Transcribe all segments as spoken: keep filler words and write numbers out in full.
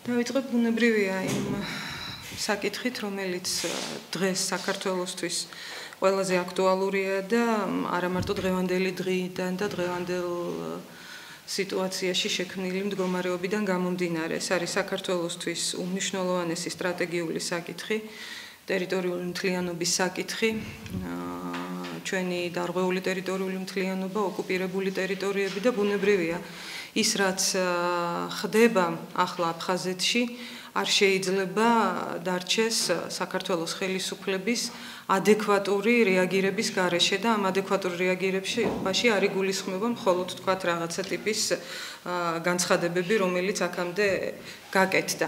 დავიწყებ ბუნებრივია იმ საკითხით, რომელიც დღეს საქართველოსთვის ყველაზე აქტუალურია და არა მარტო დღევანდელი დღიდან და დღევანდელ სიტუაციაში შექმნილი მდგომარეობიდან გამომდინარე. ეს არის საქართველოსთვის უმნიშვნელოვანესი სტრატეგიული საკითხი, ტერიტორიული მთლიანობის საკითხი, ჩვენი დარღვეული ტერიტორიული მთლიანობა, ოკუპირებული ტერიტორიები და ბუნებრივია. ის რაც ხდება ახლა აფხაზეთში, არ შეიძლება დარჩეს საქართველოს ხელისუფლების ადეკვატური რეაგირების გარეშე და ამ ადეკვატურ რეაგირებაში არ იგულისხმება მხოლოდ თქვათ რაღაცა ტიპის განცხადებები, რომელიც აქამდე გაკეთდა.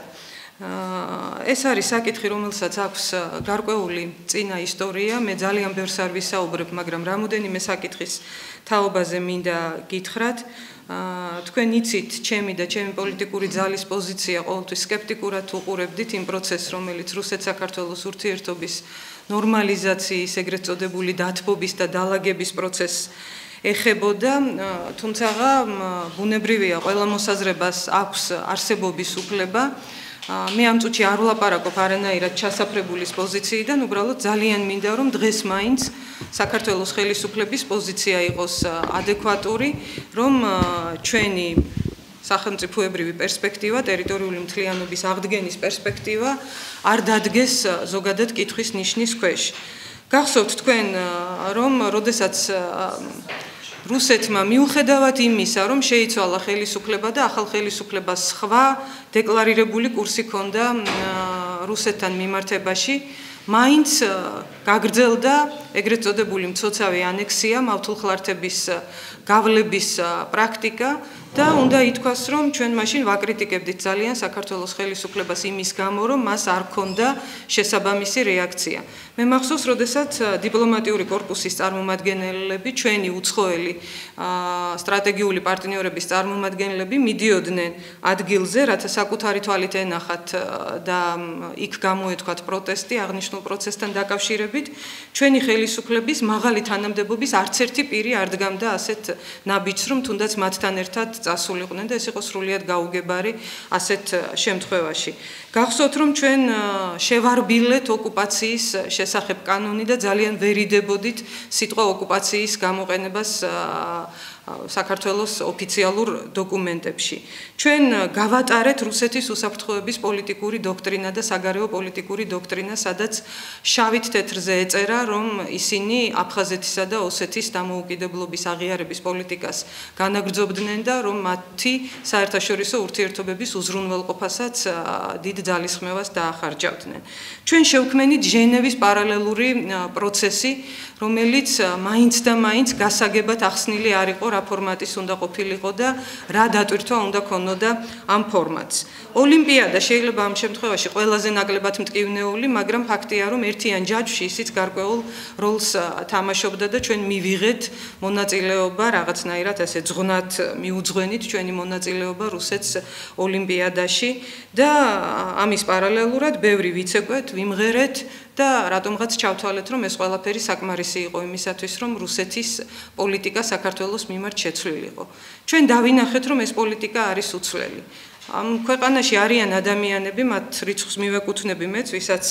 ეს არის საკითხი, რომელსაც აქვს გარკვეული წინა ისტორია. მე ძალიან ბევრს არ ვისაუბრებ, მაგრამ რამოდენიმე საკითხის თაობაზე მინდა გითხრათ. თქვენ იცით, ჩემი და ჩემი პოლიტიკური ძალის პოზიცია ყოველთვის სკეპტიკურად უყურებდით იმ პროცესს, რომელიც რუსეთ-საქართველოს ურთიერთობის ნორმალიზაციის, ეგრეთ წოდებული დათბობის და დალაგების პროცესს ეხებოდა, თუმცა ბუნებრივია, ყველა მოსაზრებას აქვს არსებობის უფლება. მე ამ წუთში არ ვლაპარაკობ არანაირად ჩასაფრებულის პოზიციიდან, უბრალოდ ძალიან მინდა რომ დღეს მაინც საქართველოს ხელისუფლების პოზიცია იყოს ადეკვატური, რომ ჩვენი სახელმწიფოებრივი პერსპექტივა, ტერიტორიული მთლიანობის აღდგენის პერსპექტივა არ დადგეს ზოგადად კითხვის ნიშნის ქვეშ. გახსოვთ თქვენ, რომ როდესაც რუსეთმა მიუხედავად იმისა, რომ შეიცვალა ხელისუფლება და ახალ ხელისუფლებას სხვა დეკლარირებული კურსი ჰქონდა რუსეთთან მიმართებაში, მაინც გაგრძელდა ეგრეთ წოდებული მცოცავი ანექსია, მავთულხლართების გავლების პრაქტიკა და უნდა ითქვას, რომ ჩვენ მაშინ ვაკრიტიკებდით ძალიან საქართველოს ხელისუფლებას იმის გამო, რომ მას არ ჰქონდა შესაბამისი რეაქცია. მე მახსოვს, როდესაც დიპლომატიური კორპუსის წარმომადგენლები, ჩვენი უცხოელი სტრატეგიული პარტნიორების წარმომადგენლები მიდიოდნენ ადგილზე, რათა საკუთარი თვალით ენახათ და იქ გამოეთქვათ პროტესტი აღნიშნულ პროცესთან დაკავშირებით. ჩვენი ხელისუფლების მაღალი თანამდებობის არც ერთი პირი არ დგამდა ასეთ ნაბიჯს, რომ თუნდაც მათთან ერთად წასულიყვნენ და ეს იყო სრულიად გაუგებარი ასეთ შემთხვევაში. გახსოვთ, რომ ჩვენ შევარბილეთ ოკუპაციის შესახებ კანონი და ძალიან ვერიდებოდით სიტყვა ოკუპაციის გამოყენებას საქართველოს ოფიციალურ დოკუმენტებში. ჩვენ გავატარეთ რუსეთის უსაფრთხოების პოლიტიკური დოქტრინა და საგარეო პოლიტიკური დოქტრინა, სადაც შავით თეთრზე ეწერა, რომ ისინი აფხაზეთისა და ოსეთის დამოუკიდებლობის აღიარების პოლიტიკას განაგრძობდნენ და რომ მათი საერთაშორისო ურთიერთობების უზრუნველყოფასაც დიდ ძალისხმევას დაახარჯავდნენ. ჩვენ შევქმნით ჟენევის პარალელური პროცესი, რომელიც მაინც და მაინც გასაგებად ახსნილი არ იყო, რა ფორმატის უნდა ყოფილიყო და რა დატვირთვა უნდა ქონოდა ამ ფორმატს. ოლიმპიადა შეიძლება ამ შემთხვევაში ყველაზე ნაკლებად მტკივნეული, მაგრამ ფაქტია, რომ ერთიან ჯაჭვში ისიც გარკვეულ როლს თამაშობდა და ჩვენ მივიღეთ მონაწილეობა რაღაცნაირად ასე ძღვნად მიუძღვენით ჩვენი მონაწილეობა რუსეთს ოლიმპიადაში და ამის პარალელურად ბევრი ვიცეკვეთ, ვიმღერეთ და რატომღაც ჩავთვალეთ, რომ ეს ყველაფერი საკმარისი იყო იმისათვის, რომ რუსეთის პოლიტიკა საქართველოს მიმართ შეცვლილიყო. ჩვენ დავინახეთ, რომ ეს პოლიტიკა არის უცვლელი. ამ ქვეყანაში არიან ადამიანები, მათ რიცხვს მივეკუთვნები მეც, ვისაც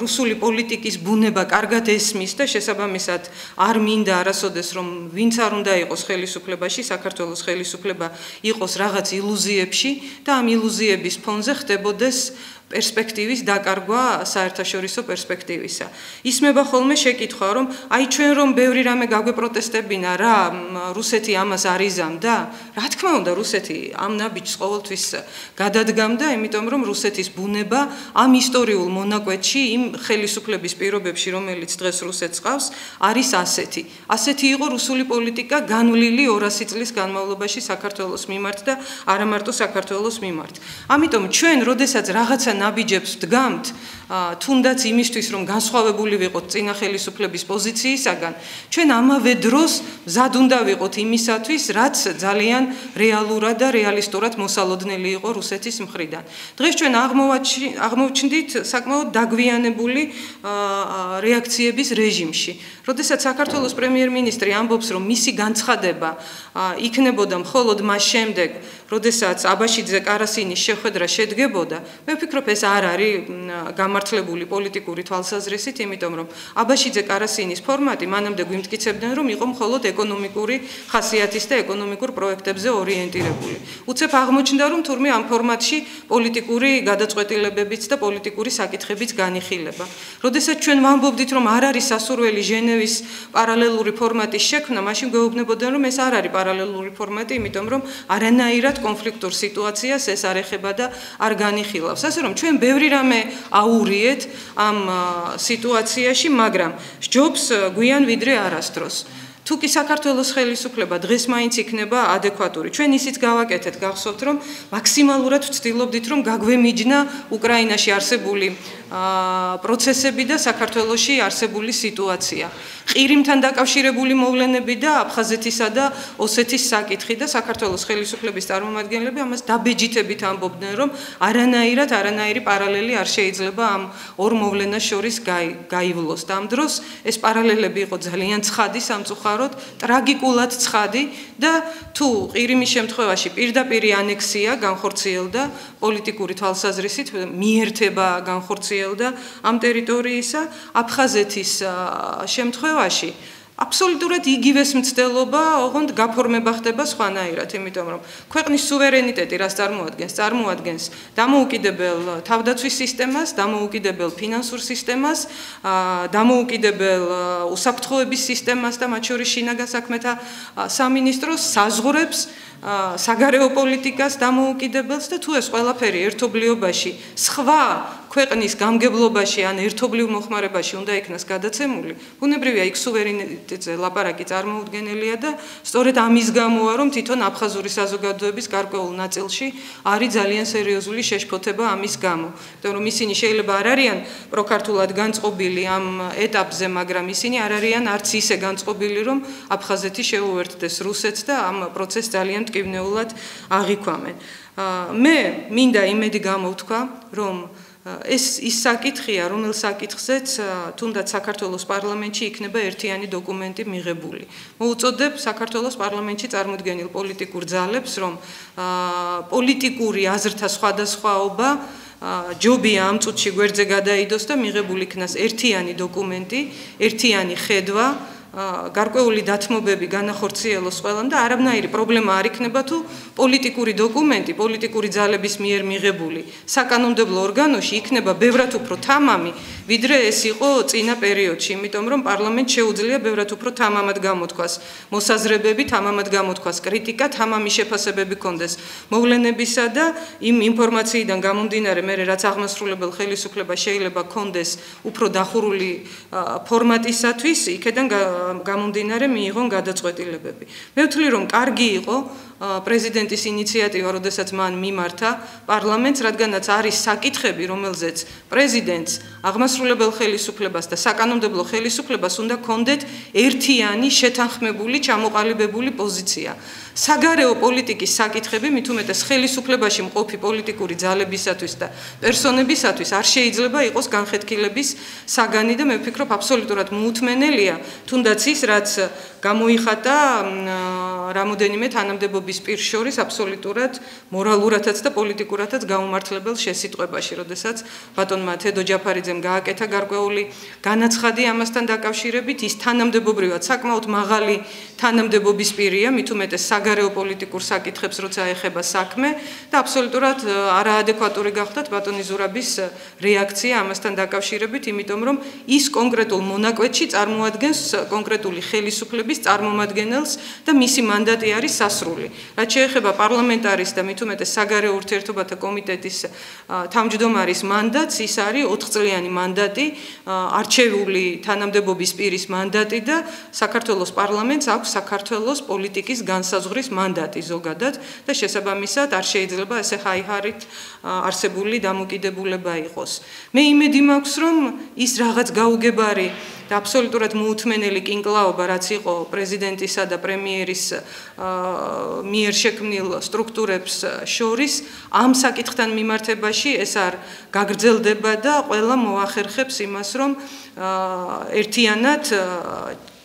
რუსული პოლიტიკის ბუნება კარგად ესმის და შესაბამისად არ მინდა არასოდეს, რომ ვინც არ უნდა იყოს ხელისუფლებაში, საქართველოს ხელისუფლება იყოს რაღაც ილუზიებში და ამ ილუზიების ფონზე ხდებოდეს პერსპექტივის დაკარგვა საერთაშორისო პერსპექტივისა. ისმება ხოლმე შეკითხვა, რომ აი ჩვენ რომ ბევრი რამე გაგვეპროტესტებინა, რა რუსეთი ამას არ იზამდა? რა თქმა უნდა, რუსეთი ამ ნაბიჯს ყოველთვის გადადგამდა, იმიტომ რომ რუსეთის ბუნება ამ ისტორიულ მონაკვეთში, იმ ხელისუფლების პირობებში, რომელიც დღეს რუსეთს ყავს, არის ასეთი. ასეთი იყო რუსული პოლიტიკა განვლილი ორასი წლის განმავლობაში საქართველოს მიმართ და არა მარტო საქართველოს მიმართ. ამიტომ ჩვენ, როდესაც რაღაცა ნაბიჯებს დგამთ, თუნდაც იმისთვის რომ განსხვავებული ვიყოთ წინა ხელისუფლების პოზიციისაგან, ჩვენ ამავე დროს მზად უნდა ვიყოთ იმისათვის, რაც ძალიან რეალურად და რეალისტურად მოსალოდნელი იყო რუსეთის მხრიდან. დღეს ჩვენ აღმოვჩნდით საკმაოდ დაგვიანებული რეაქციების რეჟიმში. როდესაც საქართველოს პრემიერ-მინისტრი ამბობს, რომ მისი განცხადება იქნებოდა მხოლოდ მას შემდეგ, როდესაც აბაშიძე კარასინის შეხვედრა შედგებოდა, მე ვფიქრობ, ეს არ არის გამართლებული პოლიტიკური თვალსაზრისით, იმიტომ რომ აბაშიძე კარასინის ფორმატი მანამდე გვიმტკიცებდნენ, რომ იყო მხოლოდ ეკონომიკური ხასიათის და ეკონომიკურ პროექტებზე ორიენტირებული. უცებ აღმოჩნდა, რომ თურმე ამ ფორმატში პოლიტიკური გადაწყვეტილებებიც და პოლიტიკური საკითხებიც განიხილება. როდესაც ჩვენ ვამბობდით, რომ არ არის სასურველი ჟენევის პარალელური ფორმატის შექმნა, მაშინ გვეუბნებოდნენ, რომ ეს არ არის პარალელური ფორმატი, იმიტომ რომ არანაირად კონფლიქტურ სიტუაციას ეს არ ეხება და არ განიხილავს. ასე რომ ჩვენ ბევრი რამე აურიეთ ამ სიტუაციაში, მაგრამ სჯობს გვიან ვიდრე არასდროს. თუ კი საქართველოს ხელისუფლება დღეს მაინც იქნება ადეკვატური. ჩვენ ისიც გავაკეთეთ, გახსოვთ, რომ მაქსიმალურად ვცდილობდით, რომ გაგვემიჯნა უკრაინაში არსებული პროცესები და საქართველოში არსებული სიტუაცია. ყირიმთან დაკავშირებული მოვლენები და აფხაზეთისა და ოსეთის საკითხი და საქართველოს ხელისუფლების წარმომადგენლები ამას დაბეჯითებით ამბობდნენ, რომ არანაირად არანაირი პარალელი არ შეიძლება ამ ორ მოვლენას შორის გაივლოს. და ამ დროს ეს პარალელები იყო ძალიან ცხადი, სამწუხაროდ, ტრაგიკულად ცხადი და თუ ყირიმის შემთხვევაში პირდაპირი ანექსია განხორციელდა პოლიტიკური თვალსაზრისით, მიერთება განხორციელდა ამ ტერიტორიისა, აფხაზეთის შემთხვევაში აბსოლუტურად იგივეს მცდელობა ოღონდ გაფორმება ხდება სხვანაირად, იმიტომ რომ ქვეყნის სუვერენიტეტი რას წარმოადგენს? წარმოადგენს დამოუკიდებელ თავდაცვის სისტემას, დამოუკიდებელ ფინანსურ სისტემას, დამოუკიდებელ უსაფრთხოების სისტემას და მათ შორის შინაგან საქმეთა სამინისტროს, საზღვრებს, საგარეო პოლიტიკას დამოუკიდებელს და თუ ეს ყველაფერი ერთობლიობაში სხვა ქვეყნის გამგებლობაში ან ერთობლივ მოხმარებაში უნდა იქნას გადაცემული, ბუნებრივია იქ სუვერენიტეტზე ლაპარაკი წარმოუდგენელია და სწორედ ამის გამოა, რომ თვითონ აფხაზური საზოგადოების გარკვეულ ნაწილში არის ძალიან სერიოზული შეშფოთება ამის გამო. იმიტომ რომ ისინი შეიძლება არ არიან პროქართულად განწყობილი ამ ეტაპზე, მაგრამ ისინი არ არიან არც ისე განწყობილი, რომ აფხაზეთი შეუერთდეს რუსეთს და ამ პროცესს ძალიან მტკივნეულად აღიქვამენ. მე მინდა იმედი გამოვთქვა, რომ ეს ის საკითხია, რომელ საკითხზეც თუნდაც საქართველოს პარლამენტში იქნება ერთიანი დოკუმენტი მიღებული. მოუწოდებ საქართველოს პარლამენტში წარმოდგენილ პოლიტიკურ ძალებს, რომ პოლიტიკური აზრთა სხვადასხვაობა ჯობია ამ წუთში გვერდზე გადაიდოს და მიღებული იქნას ერთიანი დოკუმენტი, ერთიანი ხედვა, გარკვეული დათმობები განახორციელოს ყველამ და არანაირი პრობლემა არ იქნება თუ პოლიტიკური დოკუმენტი, პოლიტიკური ძალების მიერ მიღებული საკანონმდებლო ორგანოში იქნება ბევრად უფრო თამამი, ვიდრე ეს იყო წინა პერიოდში, იმიტომ რომ პარლამენტს შეუძლია ბევრად უფრო თამამად გამოთქვას მოსაზრებები, თამამად გამოთქვას კრიტიკა, თამამი შეფასებები კონდეს მოვლენებისა და იმ ინფორმაციიდან გამომდინარე, მე რაც აღმასრულებელ ხელისუფლებას შეიძლება კონდეს უფრო დახურული ფორმატისათვის, იქედან გამომდინარე მიიღონ გადაწყვეტილებები. მე ვთვლი, რომ კარგი იყო პრეზიდენტის ინიციატივა, როდესაც მან მიმართა პარლამენტს, რადგანაც არის საკითხები, რომელზეც პრეზიდენტს, აღმასრულებელ ხელისუფლებას და საკანონმდებლო ხელისუფლებას უნდა კონდეთ ერთიანი, შეთანხმებული, ჩამოყალიბებული პოზიცია. საგარეო პოლიტიკის საკითხები, მით უმეტეს ხელისუფლებაში მყოფი პოლიტიკური ძალებისათვის და პერსონებისათვის არ შეიძლება იყოს განხეთქილების საგანი და მე ვფიქრობ, აბსოლუტურად მოუთმენელია, თუნდაც ის, რაც გამოიხატა რამოდენიმე თანამდებობის პირს შორის აბსოლუტურად მორალურადაც და პოლიტიკურადაც გაუმართლებელ შესიტყვებაში, როდესაც ბატონმა თედო ჯაფარიძემ გააკეთა გარკვეული განაცხადი ამასთან დაკავშირებით, ის თანამდებობრივად საკმაოდ მაღალი თანამდებობის პირია, მით უმეტეს საგარეო პოლიტიკურ საკითხებს როცა ეხება საქმე და აბსოლუტურად არაადეკვატური გახდათ ბატონი ზურაბის რეაქცია ამასთან დაკავშირებით, იმიტომ რომ ის კონკრეტულ მონაკვეთში წარმოადგენს კონკრეტული ხელისუფლების წარმომადგენელს და მისი მანდატი არის სასრული. რაც შეეხება პარლამენტარის და მით უმეტეს საგარეო ურთიერთობათა კომიტეტის თავმჯდომარის მანდატს, ის არის ოთხწლიანი მანდატი, არჩეული თანამდებობის პირის მანდატი და საქართველოს პარლამენტს აქვს საქართველოს პოლიტიკის განსაზღვრის მანდატი ზოგადად და შესაბამისად არ შეიძლება ესე ხაიხარით არსებული დამოკიდებულება იყოს. მე იმედი მაქვს, რომ ის რაღაც გაუგებარი და აბსოლუტურად მოუთმენელი კინკლაობა, რაც იყო პრეზიდენტისა და პრემიერის მიერ შექმნილ სტრუქტურებს შორის, ამ საკითხთან მიმართებაში ეს არ გაგრძელდება და ყველა მოახერხებს იმას, რომ ერთიანად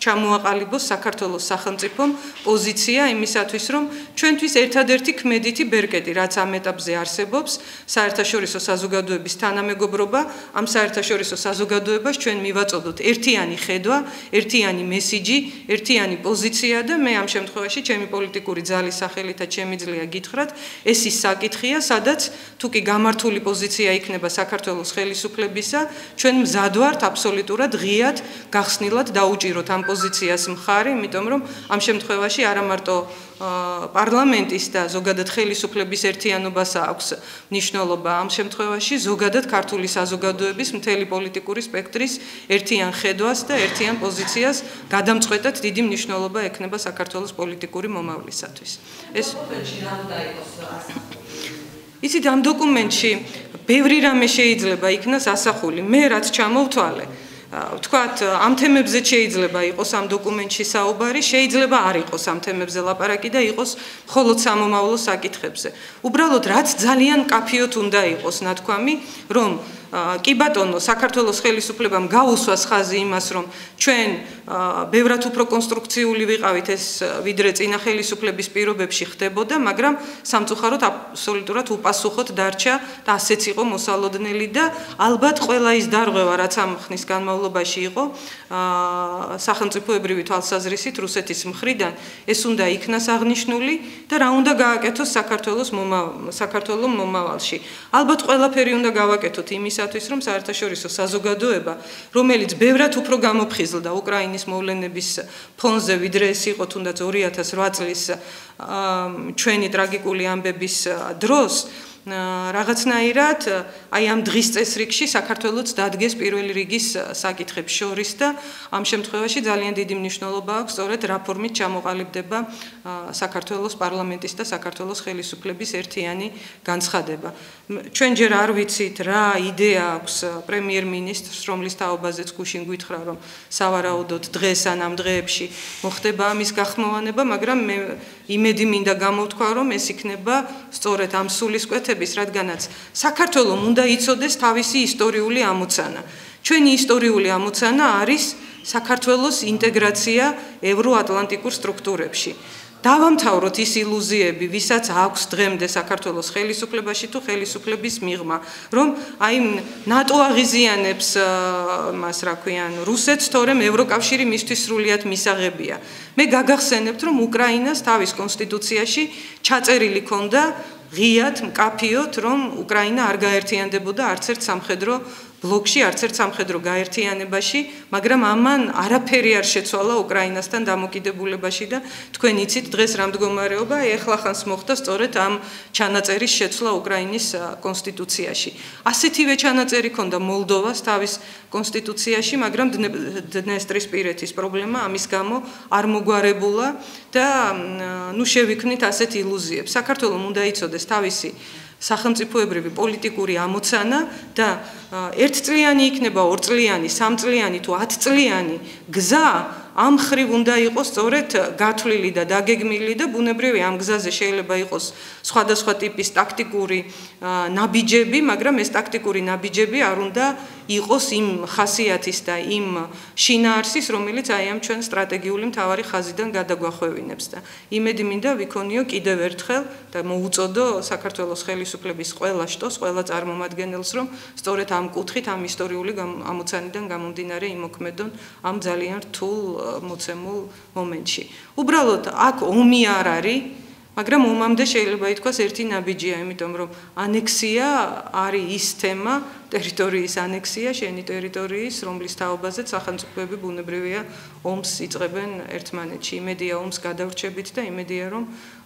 ჩამოაყალიბოს საქართველოს სახელმწიფომ პოზიცია იმისათვის, რომ ჩვენთვის ერთადერთი ქმედითი ბერკეტი, რაც ამ ეტაპზე არსებობს, საერთაშორისო საზოგადოების თანამეგობრობა, ამ საერთაშორისო საზოგადოებას ჩვენ მივაწოდოთ ერთიანი ხედვა, ერთიანი მესიჯი, ერთიანი პოზიცია და მე ამ შემთხვევაში ჩემი პოლიტიკური ძალის სახელითაც შემიძლია გითხრათ, ეს ის საკითხია, სადაც თუ კი გამართული პოზიცია იქნება საქართველოს ხელისუფლებისა, ჩვენ მზად ვართ აბსოლუტურად ღიად გახსნილად დაუჭიროთ ამ პოზიციას მხარი, იმიტომ რომ ამ შემთხვევაში არა მარტო პარლამენტის და ზოგადად ხელისუფლების ერთიანობას აქვს მნიშვნელობა, ამ შემთხვევაში ზოგადად ქართული საზოგადოების მთელი პოლიტიკური სპექტრის ერთიან ხედვას და ერთიან პოზიციას გადამწყვეტად დიდი მნიშვნელობა ექნება საქართველოს პოლიტიკური მომავლისათვის. ეს იცით, ამ დოკუმენტში ბევრი რამე შეიძლება იქნას ასახული. მე რაც ჩამოვთვალე, ვთქვათ, ამ თემებზე შეიძლება იყოს ამ დოკუმენტში საუბარი, შეიძლება არ იყოს ამ თემებზე ლაპარაკი და იყოს მხოლოდ სამომავლო საკითხებზე. უბრალოდ რაც ძალიან მკაფიოდ უნდა იყოს ნათქვამი, რომ კი ბატონო, საქართველოს ხელისუფლებამ გაუსვას ხაზი იმას, რომ ჩვენ ბევრად უფრო კონსტრუქციული ვიყავით ეს ვიდრე წინა ხელისუფლების პირობებში ხდებოდა, მაგრამ სამწუხაროდ აბსოლუტურად უპასუხოდ დარჩა და ასეც იყო მოსალოდნელი და ალბათ ყველა ის დარღვევა, რაც ამ ხნის განმავლობაში იყო სახელმწიფოებრივი თვალსაზრისით რუსეთის მხრიდან, ეს უნდა იქნას აღნიშნული და რა უნდა გააკეთოს საქართველოს საქართველოს მომავალში. ალბათ ყველაფერი უნდა გავაკეთოთ იმისათვის, რომ საერთაშორისო საზოგადოება, რომელიც ბევრად უფრო გამოფხიზლდა უკრაინის მოვლენების ფონზე, ვიდრე ეს იყო თუნდაც ორი ათას რვა წლის ჩვენი ტრაგიკული ამბების დროს, რაღაცნაირად აი ამ დღის წესრიგში საქართველოს დადგეს პირველი რიგის საკითხებს შორის და ამ შემთხვევაში ძალიან დიდი მნიშვნელობა აქვს სწორედ რა ფორმით ჩამოყალიბდება საქართველოს პარლამენტის და საქართველოს ხელისუფლების ერთიანი განცხადება. ჩვენ ჯერ არ ვიცით რა იდეა აქვს პრემიერ-მინისტრს, რომლის თაობაზეც გუშინ გითხრა, რომ სავარაუდოდ დღეს ან ამ დღეებში მოხდება ამის გახმოვანება, მაგრამ მე იმედი მინდა გამოვთქვა, რომ ეს იქნება სწორედ ამ სულისკვეთების, რადგანაც საქართველოს უნდა იცოდეს თავისი ისტორიული ამოცანა. ჩვენი ისტორიული ამოცანა არის საქართველოს ინტეგრაცია ევროატლანტიკურ სტრუქტურებში. დავამთავროთ ის ილუზიები, ვისაც აქვს დღემდე საქართველოს ხელისუფლებაში თუ ხელისუფლების მიღმა, რომ აი ნატო აღიზიანებს მას რა ქვიან რუსეთს, თორემ ევროკავშირი მისთვის სრულიად მისაღებია. მე გაგახსენებთ, რომ უკრაინას თავის კონსტიტუციაში ჩაწერილი ქონდა ღიად მკაფიოდ, რომ უკრაინა არ გაერთიანდებოდა არც ერთ სამხედრო ბლოკში, არც ერთ სამხედრო გაერთიანებაში, მაგრამ ამან არაფერი არ შეცვალა უკრაინასთან დამოკიდებულებაში და თქვენ იცით დღეს რა მდგომარეობა, ეხლახანს მოხდა სწორედ ამ ჩანაწერის შეცვლა უკრაინის კონსტიტუციაში. ასეთივე ჩანაწერი ქონდა მოლდოვას თავის კონსტიტუციაში, მაგრამ დნესტრისპირეთის პრობლემა ამის გამო არ მოგვარებულა და ნუ შევიქმნით ასეთ ილუზიებს. საქართველოს უნდა იცოდეს თავისი სახელმწიფოებრივი პოლიტიკური ამოცანა და ერთწლიანი იქნება, ორწლიანი, სამწლიანი თუ ათწლიანი გზა ამ ხრივ უნდა იყოს სწორედ გათვლილი და დაგეგმილი და ბუნებრივი ამ გზაზე შეიძლება იყოს სხვადასხვა ტიპის ტაქტიკური ნაბიჯები, მაგრამ ეს ტაქტიკური ნაბიჯები არ უნდა იყოს იმ ხასიათის და იმ შინაარსის, რომელიც აი ამ ჩვენ სტრატეგიული მთავარი ხაზიდან გადაგვახვევინებს და იმედი მინდა ვიქონიო კიდევ ერთხელ და მოუწოდო საქართველოს ხელისუფლების ყველა შტოს, ყველა წარმომადგენელს, რომ სწორედ ამ კუთხით, ამ ისტორიული ამოცანიდან გამომდინარე იმოქმედონ ამ ძალიან რთულ მოცემულ მომენტში. უბრალოდ აქ ომი არ არის, მაგრამ ომამდე შეიძლება ითქვას ერთი ნაბიჯია, იმიტომ რომ ანექსია არის ის თემა, ტერიტორიის ანექსია, შენი ტერიტორიის, რომლის თაობაზეც სახელმწიფოები ბუნებრივია ომს იწყებენ ერთმანეთში. იმედია ომს გადავრჩებით და იმედია რომ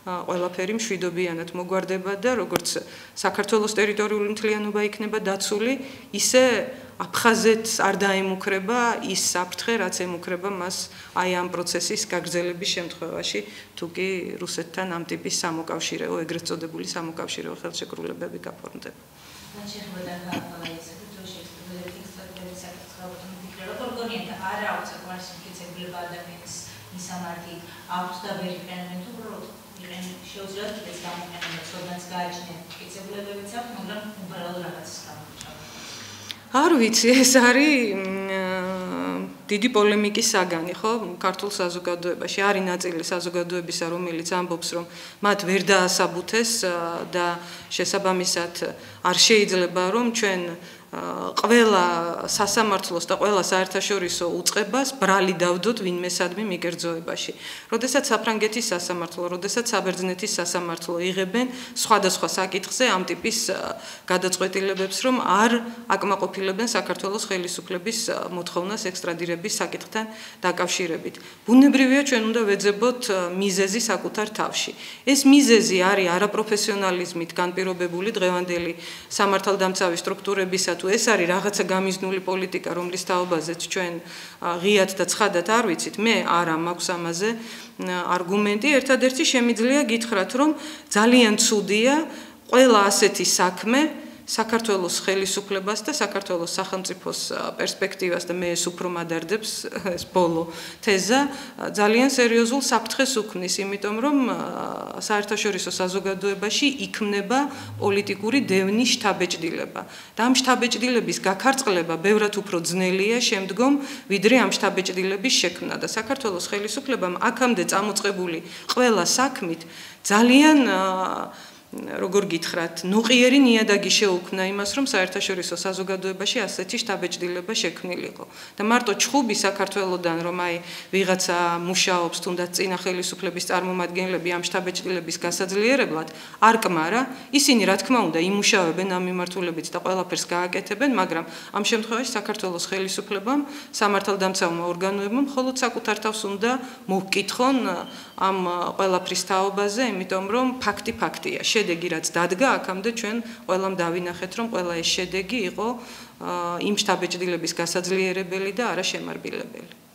ყველაფერი მშვიდობიანად მოგვარდება და როგორც საქართველოს ტერიტორიული მთლიანობა იქნება დაცული, ისე აფხაზეთს არ დაემუქრება ის საფრთხე, რაც ემუქრება მას აი ამ პროცესის გაგრძელების შემთხვევაში, თუ კი რუსეთთან ამ ტიპის სამოკავშირეო, ეგრეთ წოდებული სამოკავშირეო ხელშეკრულებები გაფორმდება. არ აქვს საკმარისი მტკიცებულება ადამიანის მისამართი აქვს და ვერ იყენებენ თუ უბრალოდ იყენ შეუძლიათ კიდეც გამოყენება ცოდნაც გააჩნიათ მტკიცებულებებიც აქვს მაგრამ უბრალოდ რაღაცის გამოჩავა არ ვიცი ეს არის დიდი პოლემიკის საგანი ხო ქართულ საზოგადოებაში არის ნაწილი საზოგადოებისა რომელიც ამბობს რომ მათ ვერ დაასაბუთეს და შესაბამისად არ შეიძლება რომ ჩვენ ყველა სასამართლოს და ყველა საერთაშორისო უწყებას ბრალი დავდოთ ვინმესადმი მიკერძოებაში. როდესაც საფრანგეთის სასამართლო, როდესაც საბერძნეთის სასამართლო იღებენ სხვადასხვა საკითხზე ამ ტიპის გადაწყვეტილებებს, რომ არ აკმაყოფილებენ საქართველოს ხელისუფლების მოთხოვნას ექსტრადირების საკითხთან დაკავშირებით. ბუნებრივია ჩვენ უნდა ვეძებოთ მიზეზი საკუთარ თავში. ეს მიზეზი არის არაპროფესიონალიზმით განპირობებული დღევანდელი სამართალდამცავი სტრუქტურებისა თუ ეს არის რაღაცა გამიზნული პოლიტიკა, რომლის თაობაზეც ჩვენ ღიად და ცხადად არ ვიცით, მე არა მაქვს ამაზე არგუმენტი, ერთადერთი შემიძლია გითხრათ, რომ ძალიან ცუდია ყველა ასეთი საქმე საქართველოს ხელისუფლებას და საქართველოს სახელმწიფოს პერსპექტივას და მე ეს უფრო მადარდებს ეს ბოლო თეზა ძალიან სერიოზულ საფრთხეს უქმნის, იმიტომ რომ საერთაშორისო საზოგადოებაში იქმნება პოლიტიკური დევნის შთაბეჭდილება და ამ შთაბეჭდილების გაქარწყლება ბევრად უფრო ძნელია შემდგომ, ვიდრე ამ შთაბეჭდილების შექმნა და საქართველოს ხელისუფლებამ აქამდე წამოწყებული ყველა საქმით ძალიან როგორ გითხრათ, ნოყიერი ნიადაგი შეუქმნა იმას, რომ საერთაშორისო საზოგადოებაში ასეთი შთაბეჭდილება შექმნილიყო. და მარტო ჩხუბი საქართველოდან, რომ აი ვიღაცა მუშაობს თუნდაც წინა ხელისუფლების წარმომადგენლები ამ შთაბეჭდილების გასაძლიერებლად, არ კმარა, ისინი რა თქმა უნდა იმუშავებენ ამ მიმართულებით და ყველაფერს გააკეთებენ, მაგრამ ამ შემთხვევაში საქართველოს ხელისუფლებამ, სამართალდამცავმა ორგანოებმა მხოლოდ საკუთარ თავს უნდა მოვკითხონ ამ ყველაფრის თაობაზე, იმიტომ რომ ფაქტი ფაქტია. შედეგი რაც დადგა აქამდე ჩვენ ყველამ დავინახეთ რომ ყველა ეს შედეგი იყო იმ შთაბეჭდილების გასაძლიერებელი და არა შემარბილებელი.